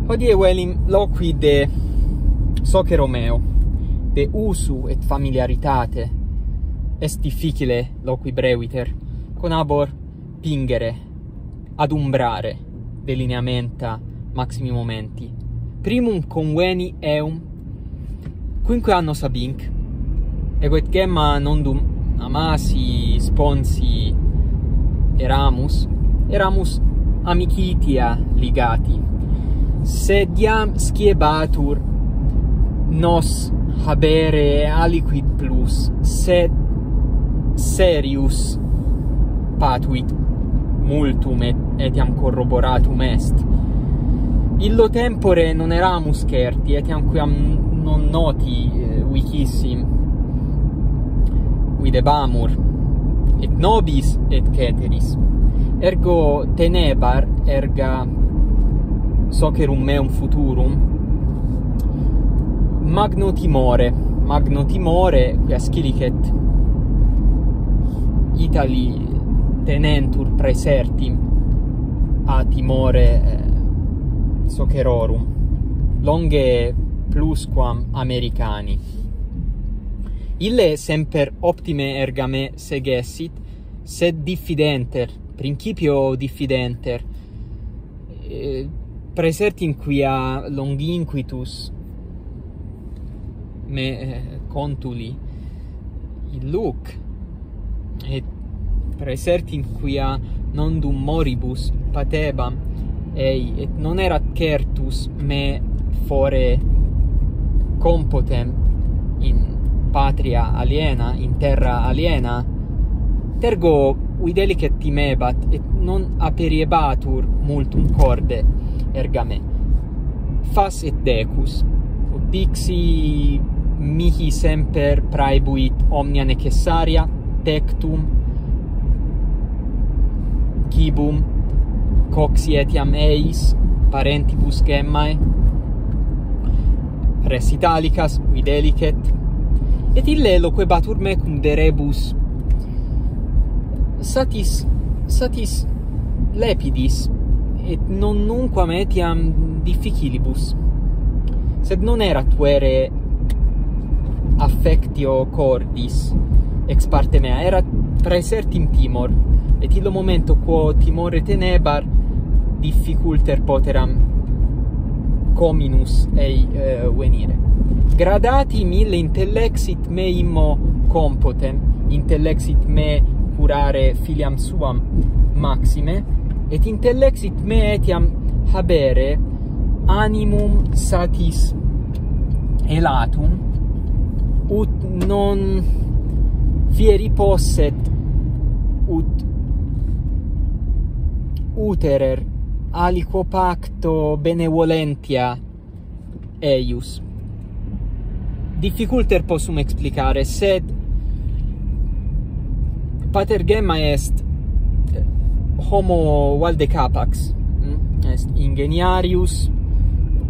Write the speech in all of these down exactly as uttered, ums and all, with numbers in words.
Hodie velim loqui de socero meo, de usu et familiaritate. Est difficile loqui breviter, conabor pingere, adumbrare delineamenta maximi momenti. Primum conveni eum, quinque annos ab inc, ego et Gemma nondum amasi, sponsi eramus, eramus amicitia ligati. Sed iam sciebatur nos habere aliquid plus, sed serius patuit multum et, etiam corroboratum est. Illo tempore non eramus certi, etiam quam non noti, eh, vicissim, videbamur, et nobis et ceteris. Ergo tenebar, erga socerum meum futurum, magno timore, magno timore, quia scilicet Itali tenentur praesertim a timore, eh, socerorum, longe plusquam Americani. Ille semper optime erga me segessit, sed diffidenter, principio diffidenter, eh, praesertim quia longinquitus me, eh, contuli illuc, et praesertim quia nondum moribus patebam ei, et non erat certus me fore compotem in patria aliena, in terra aliena, et ergo videlicet timebat, et non aperiebatur multum corde, erga me. Fas et decus, ut dixi mihi semper praebuit omnia necessaria, tectum cibum, coxi etiam eis parentibus Gemmae, res italicas videlicet, et ille loquebatur mecum de rebus satis, satis lepidis, et non nunquam etiam difficilibus. Sed non erat vere affectio cordis ex parte mea, erat praesertim timor, et illo momento quo timore tenebar, difficulter poteram cominus ei, eh, venire. Gradatim ille intellexit me immo compotem, intellexit me curare filiam suam maxime, et intellexit me etiam habere animum satis elatum, ut non fieri posset, ut uterer aliquo pacto benevolentia eius. Difficulter possum explicare, sed pater Gemma est homo valde capax, mm? Est ingeniarius,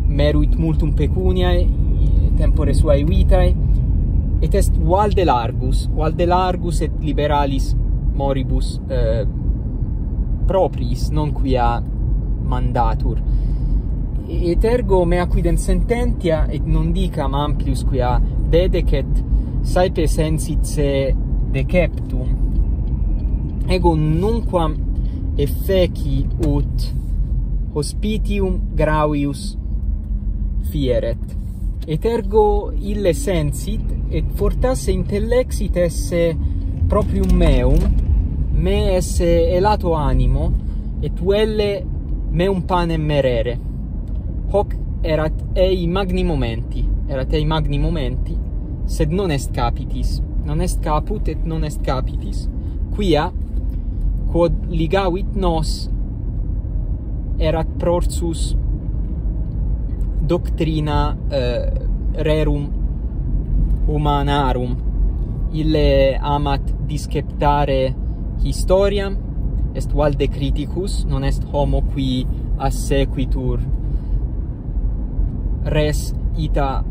meruit multum pecuniae tempore suae vitae, et est valde largus, valde largus et liberalis moribus, eh, propriis, non quia mandatur. Et ergo mea quidem sententia, et non dicam amplius quia dedecet, saepe sensit se deceptum, ego nunquam effeci ut hospitium gravius fieret. Et ergo ille sensit, et fortasse intellexit esse proprium meum, me esse elato animo, et velle meum panem merere. Hoc erat ei magni momenti, erat ei magni momenti, sed non est capitis, non est caput et non est capitis. Quia, quod ligavit nos, erat prorsus doctrina, eh, rerum humanarum. Ille amat disceptare historiam, est valde criticus, non est homo qui assequitur res ita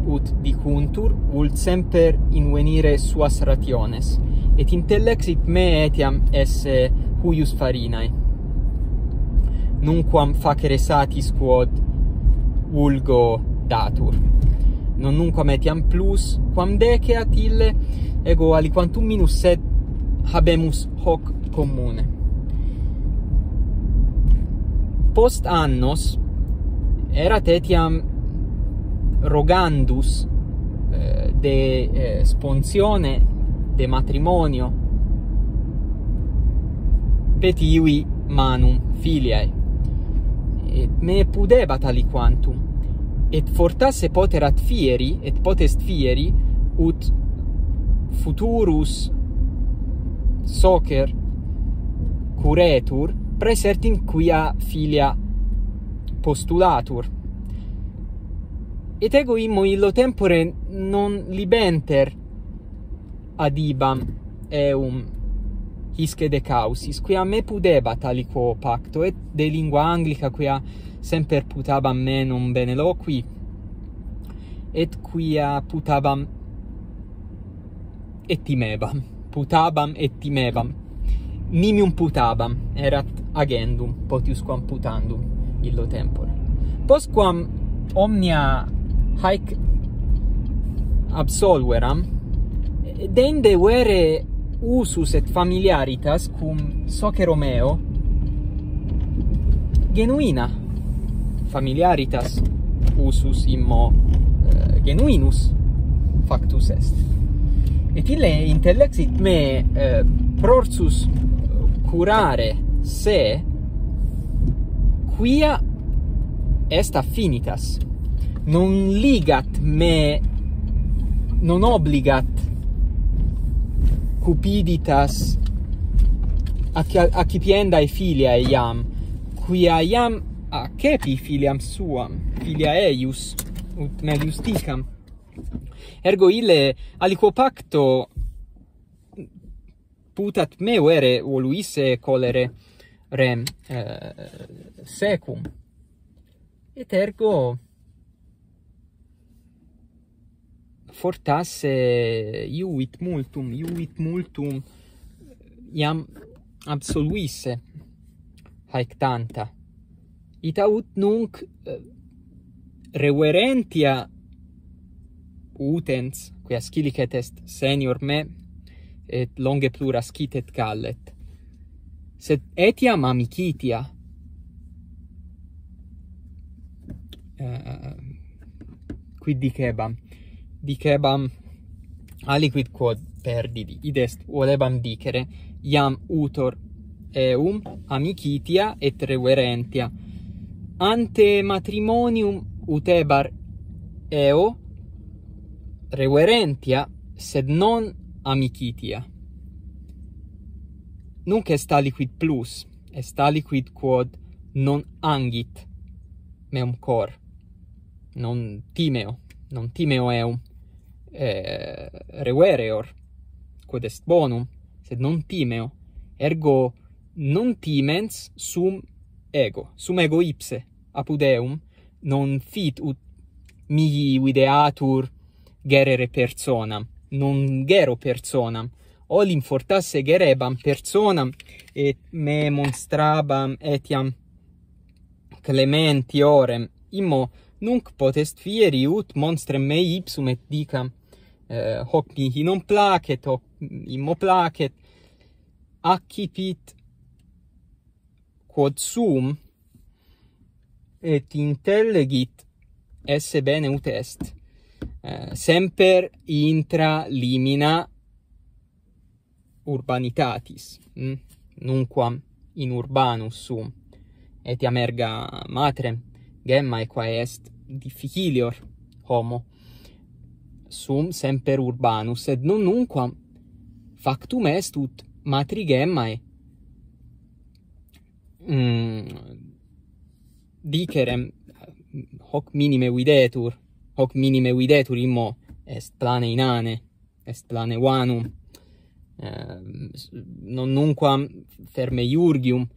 ut dicuntur, vult semper invenire suas rationes, et intellexit me etiam esse huius farinae. Nunquam facere satis quod vulgo datur. Non nunquam etiam plus quam deceat ille, ego aliquantum minus, sed habemus hoc commune. Post annos erat etiam rogandus, eh, de, eh, sponsione, de matrimonio, petivi manum filiae. Et me pudebat aliquantum. Et fortasse poterat fieri, et potest fieri, ut futurus socer curetur, praesertim quia filia postulatur. Et ego immo illo tempore non libenter adibam eum hisce decausis, quia me pudebat aliquo pacto, et de lingua Anglica, quia semper putabam me non bene loqui, et quia putabam et timebam, putabam et timebam, nimium putabam, erat agendum potiusquam putandum illo tempore. Postquam omnia haec absolveram, dende vere usus et familiaritas cum socero meo genuina, familiaritas usus immo, eh, genuinus factus est. Et ille intellexit me, eh, prorsus curare se quia est affinitas. Non ligat me, non obligat cupiditas acci-, accipiendae filiae iam, quia iam accepi filiam suam, filia eius, ut melius dicam. Ergo ille aliquo pacto putat me vere voluisse collere rem, eh, secum. Et ergo fortasse iuvit multum, iuvit multum iam absolvisse haec tanta. Ita ut nunc, eh, reverentia utens, quia scilicet est senior me, et longe plura scit et gallet, sed etiam amicitia, eh, quid dicebam? Dicebam aliquid quod perdidi, id est, volebam dicere, iam utor eum amicitia et reverentia. Ante matrimonium utebar eo reverentia, sed non amicitia. Nunc est aliquid plus, est aliquid quod non angit meum cor. Non timeo, non timeo eum, eh, revereor, quod est bonum, sed non timeo, ergo non timens sum ego, sum ego ipse, apud eum, non fit ut mihi videatur gerere personam, non gero personam, olim fortasse gerebam personam, et me monstrabam etiam clementiorem, immo nunc potest fieri ut monstrem mei ipsum et dicam, eh, hoc mihi non placet, hoc immo placet, accipit quod sum, et intellegit esse bene ut est, eh, semper intra limina urbanitatis, mm? Nunquam in urbanus sum, etiam erga matrem gemmae, quae est difficilior homo, sum semper urbanus, sed non nunquam factum est ut matri gemmae, mm, dicerem, hoc minime videtur, hoc minime videtur, immo est plane inane, est plane vanum, eh, non nunquam ferme iurgium,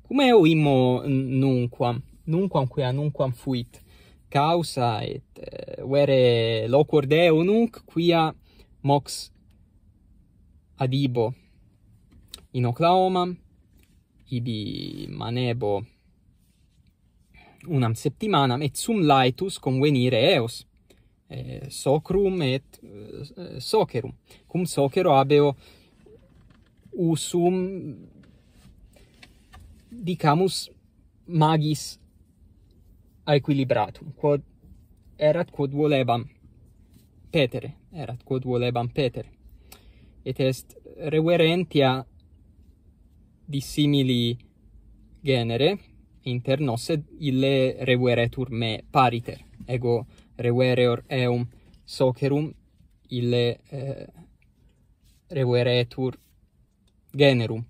cum eo immo n-, nunquam, nunquam quia nunquam fuit causa, et, eh, vere loquor Deo nunc quia mox adibo in Oklahoma, ibi manebo unam septimanam, et sum laetus convenire eos, eh, socrum et, eh, socerum. Cum socero habeo usum, dicamus, magis aequilibratum, quod erat quod volebam petere, erat quod volebam petere. Et est reverentia dissimili genere inter nos, sed ille reveretur me pariter. Ego revereor eum socerum, ille, eh, reveretur generum.